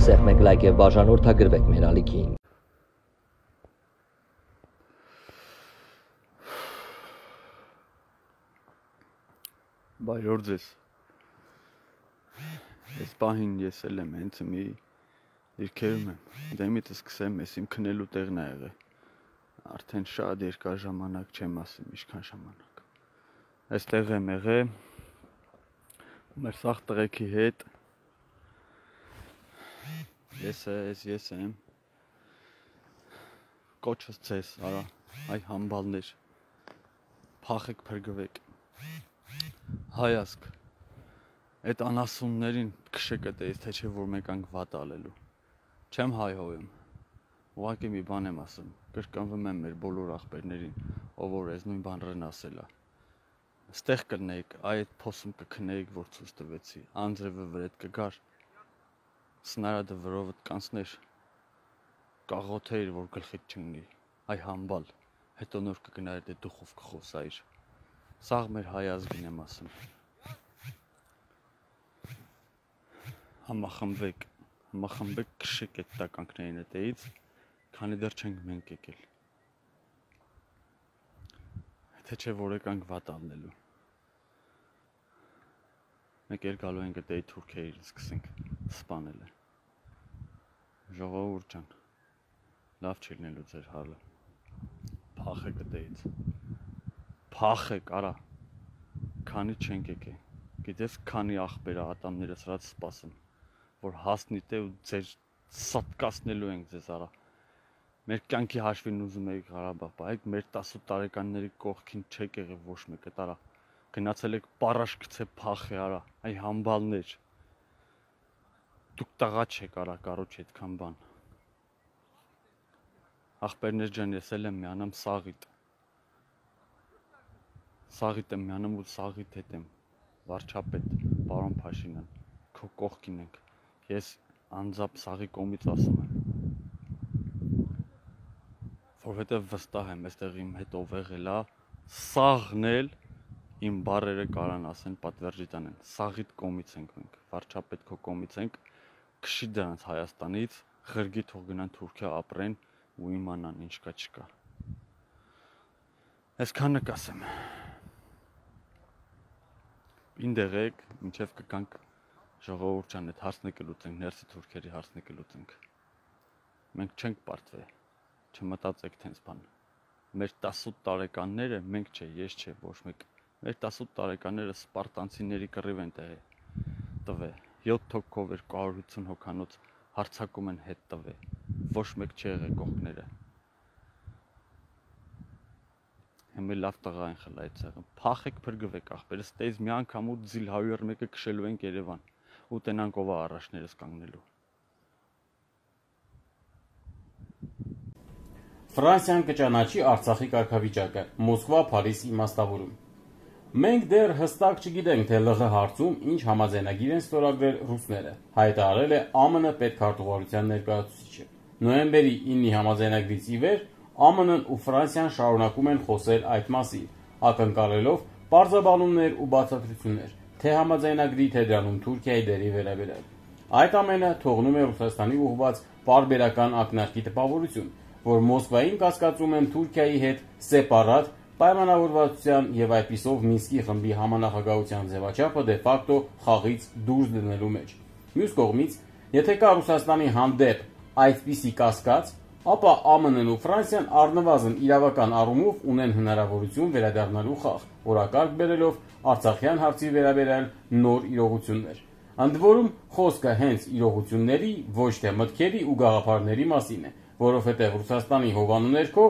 սեղմեք լայք եւ բաժանորդագրվեք մեր ալիքին։ Բայրոր ձեզ, ես պահին ես էլ եմ հենց մի դիրքերում եմ, դեմիտը սկսեմ, ես իմ քնելու տեղն է եղել, արդեն շատ երկար ժամանակ չեմ ասում, ինչքան ժամանակ, այստեղ եմ եղել, մեր սաղ տղեքի հետ, ես եմ, կոչս ձեզ, արա, այ համբալներ, փախեք փրկվեք, հայազգ, այդ անասուններին քշեք էտեից, թե չէ որ մեկ անք վատ ալելու, չեմ հայհոյում, ուղղակի մի բան եմ ասում, կրկնվում եմ մեր բոլոր աղբերներին, ով որ ես նույն բանրն ասել է, ստեղ կնեիք, այդ փոսում կքնեիք, որ ցույց տվեցի, անձրևը վրեդ կգար, սնարադը վրովդ կանցներ, կաղոթեիր, որ գլխիդ չընկնի, այ համբալ, հետո նոր կգնայր դե դուխով կխոսայիր, սաղ մեր հայազգին եմ ասում, համախմբեք, քշեք այդ տականքներին հետեից, քանի դեռ չենք մենք եկել, թե չէ որ եկանք վատ ալնելու, մեկ էլ գալու ենք էտեի թուրքերին սկսենք սպանել է, ժողովուրդ ջան, լավ չի լինելու ձեր հալը, փախեք էտեից, փախեք, արա, քանի չենք եկել, գիտես քանի աղբերը ատամները սրած սպասում, որ հասնի տե ու ձեր սատկացնելու ենք ձեզ արա, մեր կյանքի հաշվին ուզում եք Ղարաբաղ, բայց մեր 18 տարեկանների կողքին չեք եղել ոչ մեկը տարա, գնացել եք պարաշ գցե փախե արա, այ համբալներ, դուք տղա չեք արա, կարոջ այդքան բան, աղբերներ ջան ես էլ եմ միանամ Սաղիթ եմ միանում ու Սաղիթ հետ եմ, վարչապետ, պարոն Փաշինյան, քո կողքին ենք, ես անձամբ Սաղի կողմից ասում եմ, որովհետև վստահ եմ, այստեղ իմ հետ ով եղել է, Սաղն էլ իմ բառերը կարան ասեն, պատվերջի տանեն, Սաղիթ կողմից ենք մենք, վարչապետ քո կողմից ենք, քշի դրանց Հայաստանից, ղրգի թող գնան Թուրքիա ապրեն ու իմանան ինչ կա չկա, այսքանը կասեմ, ինտեղ եք, մինչև կգանք ժողովուրդ ջան, այդ հարցն կլուծենք, ներսի թուրքերի հարցն կլուծենք, մենք չենք պարտվել, չմտածեք թենց բան, մեր 18 տարեկանները, մենք չէ, ես չէ, ոչ մեկ, մեր 18 տարեկանները սպարտանցիների կռիվ են տվել, 7 հոգով 250 հոգանոց հարցակում են հետ տվել, ոչ մեկ չի եղել կողքները, հիմա լավ տղա են խլա այդ ցեղը, փախեք փրկվեք աղբերս, տեզ մի անգամ ու ձիլ 101-ը քշելու ենք Երևան, ու տենանք ով է առաջներս կանգնելու։ Ֆրանսիան կճանաչի Արցախի կարգավիճակը, Մոսկվա, Փարիզ իմաստավորում։ Մենք դեռ հստակ չգիտենք, թե ԼՂ հարցում ինչ համաձայնագիր են ստորագրել ռուսները, հայտարարել է ԱՄՆ պետքարտուղարության ներկայացուցիչը։ Նոյեմբերի 9-ի համաձայնագրից ի վեր ԱՄՆ-ն ու Ֆրանսիան շարունակում են խոսել այդ մասին, ակնկալելով պարզաբանումներ ու բացատրություններ, թե համաձայնագրի թե դրանում Թուրքիայի դերի վերաբերյալ։ Այդ ամենը թողնում է Ռուսաստանի ուղղված պարբերական ակնարկի տպավորություն, որ Մոսկվային կասկածում են Թուրքիայի հետ սեպարատ պայմանավորվածության եւ այդպիսով Մինսկի խմբի համանախագահության ձևաչափը դե ֆակտո խաղից դուրս դնելու մեջ։ Մյուս կողմից, եթե կա Ռուսաստանի հանդեպ այդպիսի կասկած, ապա ԱՄՆ-ն ու Ֆրանսիան առնվազն իրավական առումով ունեն հնարավորություն վերադառնալու խաղ, օրակարգ բերելով Արցախյան հարցի վերաբերյալ նոր իրողություններ։ Ընդ որում խոսքը հենց իրողությունների, ոչ թե մտքերի ու գաղափարների մասին է, որովհետև Ռուսաստանի հովանու ներքո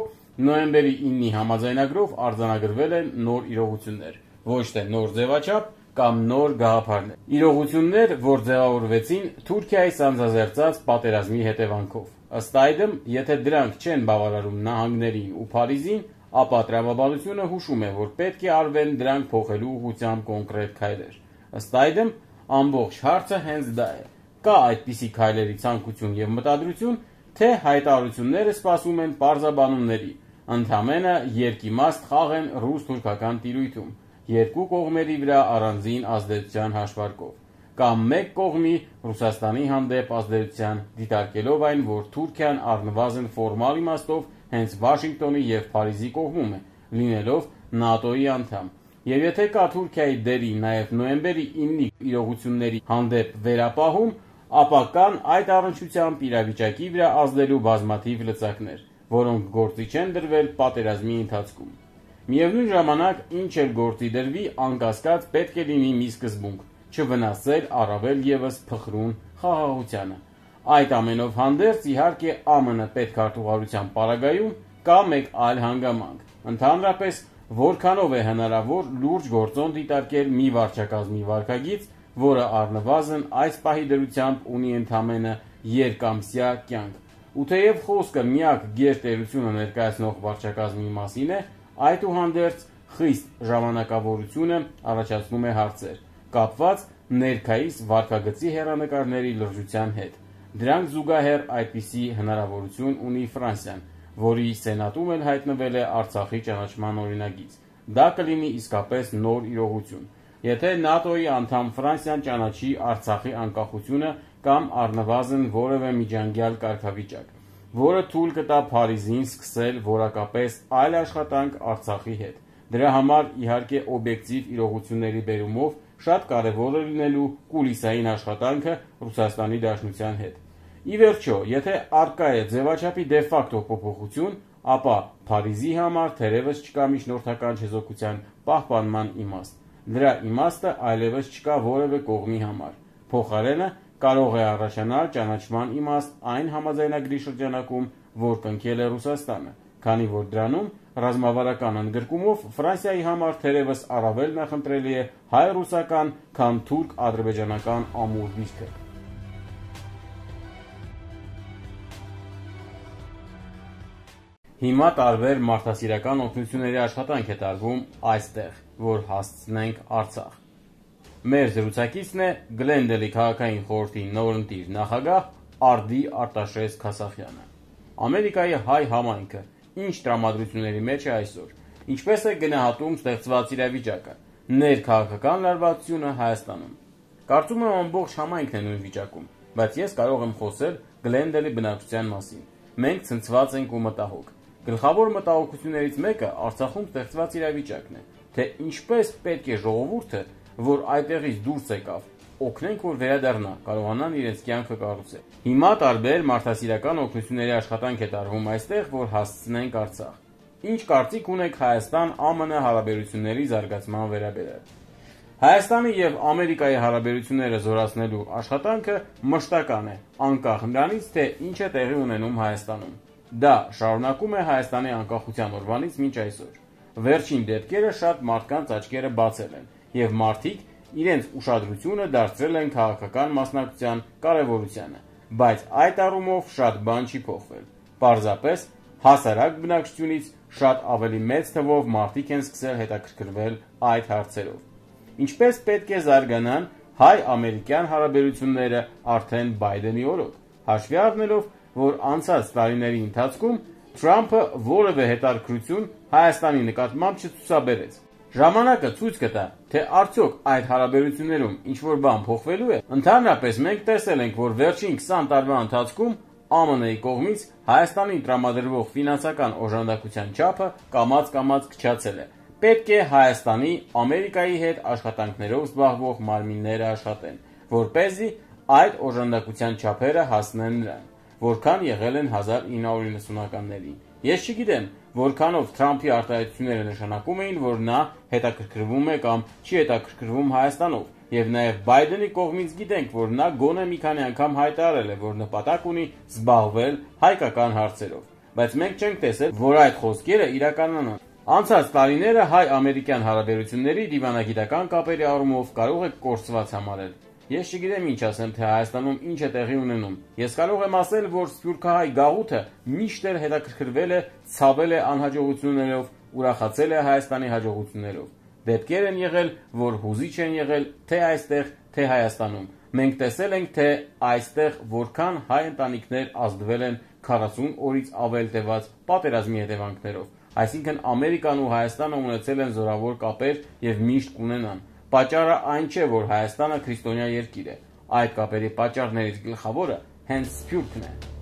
նոյեմբերի 9-ի համաձայնագրով արձանագրվել են նոր իրողություններ, ոչ թե նոր ձևաչափ կամ նոր գաղափարներ։ Իրողություններ, որ ձևավորվեցին Թուրքիայի սանձազերծած պատերազմի հետևանքով։ Ըստ այդմ, եթե դրանք չեն բավարարում նահանգներին ու Փարիզին, ապա տրամաբանությունը հուշում է, որ պետք է արվեն դրանք փոխելու ուղղությամբ կոնկրետ քայլեր։ Ըստ այդմ, ամբողջ հարցը հենց դա է։ Կա այդպիսի քայլերի ցանկություն եւ մտադրություն, թե հայտարարությունները սպասում են պարզաբանումների, ընդհանրապես երկիմաստ խաղ են ռուս-թուրքական տիրույթում, երկու կողմերի վրա առանձին ազդեցության հաշվարկով։ կամ մեկ կողմի Ռուսաստանի հանդեպ ազդեցության, դիտարկելով այն, որ Թուրքիան առնվազն ֆորմալ իմաստով հենց Վաշինգտոնի եւ Փարիզի կողմում է, լինելով ՆԱՏՕ-ի անդամ։ Եվ եթե կա Թուրքիայի դերի նաև նոյեմբերի 9-ի իրողությունների հանդեպ վերապահում, ապա կան այդ առնչությամբ իրավիճակի վրա ազդելու բազմաթիվ լծակներ, որոնք գործի չեն դրվել պատերազմի ընթացքում։ Միևնույն ժամանակ, ինչ էլ գործի դրվի, անկասկած պետք է լինի մի սկզբունք՝ չվնասել առավել ևս փխրուն խաղաղությանը։ Այդ ամենով հանդերձ, իհարկե, ԱՄՆ պետքարտուղարության պարագայում կա մեկ այլ հանգամանք։ Ընդհանրապես, որքանով է հնարավոր լուրջ գործոն դիտարկել մի վարչակազմի վարքագիծ, որը առնվազն այս պահի դրությամբ ունի ընդամենը երկամսյա կյանք։ Ու թեև խոսքը միակ գերտերությունը ներկայացնող վարչակազմի մասին է, այդուհանդերձ խիստ ժամանակավորությունը առաջացնում է հարցեր, կապված ներկայիս վարքագծի հեռանկարների լրջության հետ։ Դրանք զուգահեռ այդպիսի հնարավորություն ունի Ֆրանսիան, որի սենատում էլ հայտնվել է Արցախի ճանաչման օրինագիծ։ Դա կլինի իսկապես նոր իրողություն, եթե ՆԱՏՕ-ի անդամ Ֆրանսիան ճանաչի Արցախի անկախությունը կամ առնվազն որևէ միջանկյալ կարգավիճակ, որը թույլ կտա Փարիզին սկսել որակապես այլ աշխատանք Արցախի հետ։ Դրա համար, իհարկե, օբյեկտիվ իրողությունների բերումով շատ կարևոր է լինելու կուլիսային աշխատանքը Ռուսաստանի Դաշնության հետ։ Ի վերջո, եթե առկա է ձևաչափի դե ֆակտո փոփոխություն, ապա Փարիզի համար թերևս չկա միջնորդական չեզոքության պահպանման իմաստ։ Դրա իմաստը այլևս չկա որևէ կողմի համար։ Փոխարենը կարող է առաջանալ ճանաչման իմաստ այն համաձայնագրի շրջանակում, որ կնքել է Ռուսաստանը, քանի որ դրանում ռազմավարական ընդգրկումով Ֆրանսիայի համար թերևս առավել նախընտրելի է հայ-ռուսական, քան թուրք-ադրբեջանական ամուր դիրքը։ Հիմա տարբեր մարդասիրական օգնությունների աշխատանք է տարվում այստեղ, որ հասցնենք Արցախ։ Մեր զրուցակիցն է Գլենդելի քաղաքային խորհրդի նորընտիր նախագահ Արդի Արտաշես Քասախյանը։ Ամերիկայի հայ համայնքը ինչ տրամադրությունների մեջ է այսօր, ինչպես է գնահատում ստեղծված իրավիճակը, ներքաղաքական լարվածությունը Հայաստանում։ Կարծում եմ ամբողջ համայնքն է նույն վիճակում, բայց ես կարող եմ խոսել Գլենդելի բնակչության մասին։ Մենք ցնցված ենք ու մտահոգ։ Գլխավոր մտահոգություններից մեկը Արցախում ստեղծված իրավիճակն է, թե ինչպես պետք է ժողովուրդը, որ այդտեղից դուրս եկավ, օգնենք, որ վերադառնա, կարողանան իրենց կյանքը կառուցել։ Հիմա տարբեր մարդասիրական օգնությունների աշխատանք է տարվում այստեղ, որ հասցնենք Արցախ։ Ինչ կարծիք ունեք Հայաստան-ԱՄՆ հարաբերությունների զարգացման վերաբերյալ։ Հայաստանի եւ Ամերիկայի հարաբերությունները զորացնելու աշխատանքը մշտական է, անկախ նրանից, թե ինչ է տեղի ունենում Հայաստանում։ Դա շարունակում է Հայաստանի անկախության օրվանից մինչ այսօր։ Վերջին դեպքերը շատ մարդկանց աչքերը բացել են, եւ մարդիկ իրենց ուշադրությունը դարձրել են քաղաքական մասնակցության կարևորությանը, բայց այդ առումով շատ բան չի փոխվել։ Պարզապես հասարակ բնակչությունից շատ ավելի մեծ թվով մարդիկ են սկսել հետաքրքրվել այդ հարցերով։ Ինչպես պետք է զարգանան հայ-ամերիկյան հարաբերությունները արդեն Բայդենի օրոք, հաշվի առնելով, որ անցած տարիների ընթացքում Թրամփը որևէ հետաքրքրություն Հայաստանի նկատմամբ չցուցաբերեց։ Ժամանակը ցույց կտա, թե արդյոք այդ հարաբերություններում ինչ-որ բան փոխվելու է։ Ընդհանրապես մենք տեսել ենք, որ վերջին 20 տարվա ընթացքում ԱՄՆ-ի կողմից Հայաստանին տրամադրվող ֆինանսական օժանդակության չափը կամաց-կամաց քչացել է։ Պետք է Հայաստանի Ամերիկայի հետ աշխատանքներով զբաղվող մարմինները աշխատեն, որպեսզի այդ օժանդակության չափերը հասնեն նրան, որքան եղել են 1990-ականներին։ Ես չգիտեմ, որքանով Թրամփի արտահայտությունները նշանակում էին, որ նա հետաքրքրվում է կամ չի հետաքրքրվում Հայաստանով, եւ նաեւ Բայդենի կողմից գիտենք, որ նա գոնե մի քանի անգամ հայտարարել է, որ նպատակ ունի զբաղվել հայկական հարցերով, բայց մենք չենք տեսել, որ այդ խոսքերը իրականանան։ Անցած տարիները հայ-ամերիկյան հարաբերությունների դիվանագիտական կապերի առումով կարող է կորսված համարել։ Ես չգիտեմ ինչ ասեմ, թե Հայաստանում ինչ է տեղի ունենում։ Ես կարող եմ ասել, որ սփյուռքահայ գաղութը միշտ էլ հետաքրքրվել է, ցավել է անհաջողություններով, ուրախացել է Հայաստանի հաջողություններով։ Դեպքեր են եղել, որ հուզիչ են եղել թե այստեղ, թե Հայաստանում։ Մենք տեսել ենք, թե այստեղ որքան հայ ընտանիքներ ազդվել են 40 օրից ավել տևած պատերազմի հետևանքներով։ Այսինքն Ամերիկան ու Հայաստանը ունեցել են զորավոր կապեր եւ միշտ կունենան, Պատճառը այն չէ, որ Հայաստանը քրիստոնյա երկիր է։ Այդ կապերի պատճառներից գլխավորը հենց Սփյուռքն է։